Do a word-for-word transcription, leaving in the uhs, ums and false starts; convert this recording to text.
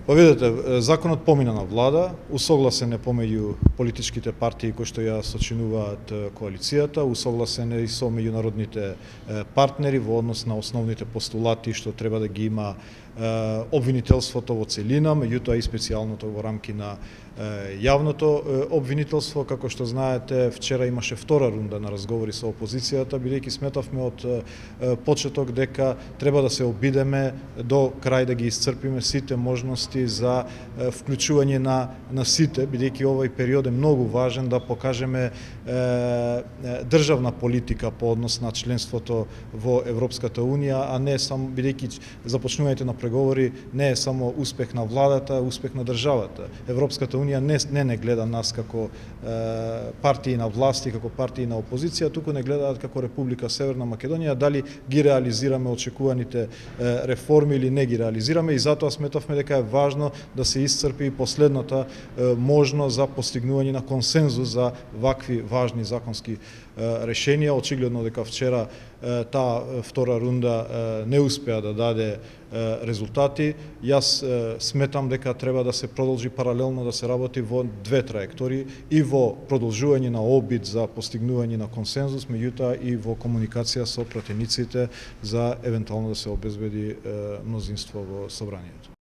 Па видете, законот помина на влада, усогласен е помеѓу политичките партии кои што ја сочинуваат коалицијата, усогласен е и со меѓународните партнери во однос на основните постулати што треба да ги има обвинителството во целина, меѓутоа и специјалното во рамки на јавното обвинителство. Како што знаете, вчера имаше втора рунда на разговори со опозицијата, бидејќи сметавме од почеток дека треба да се обидеме до крај да ги исцрпиме сите можности за вклучување на на сите, бидејќи овој период е многу важен да покажеме е, државна политика по однос на членството во Европската унија, а не само бидејќи започнувањето на преговори не е само успех на владата, успех на државата. Европската унија не не не гледа нас како е, партии на власти, како партии на опозиција, туку не гледаат како Република Северна Македонија дали ги реализираме очекуваните е, реформи или не ги реализираме, и затоа сметавме дека е важно да се исцрпи и последната е, можност за постигнување на консензус за вакви важни законски е, решенија. Очигледно дека вчера е, таа втора рунда е, не успеа да даде е, резултати. Јас е, сметам дека треба да се продолжи паралелно да се работи во две траектории, и во продолжување на обид за постигнување на консензус, меѓутоа и во комуникација со пратениците за евентуално да се обезбеди е, мнозинство во собранието.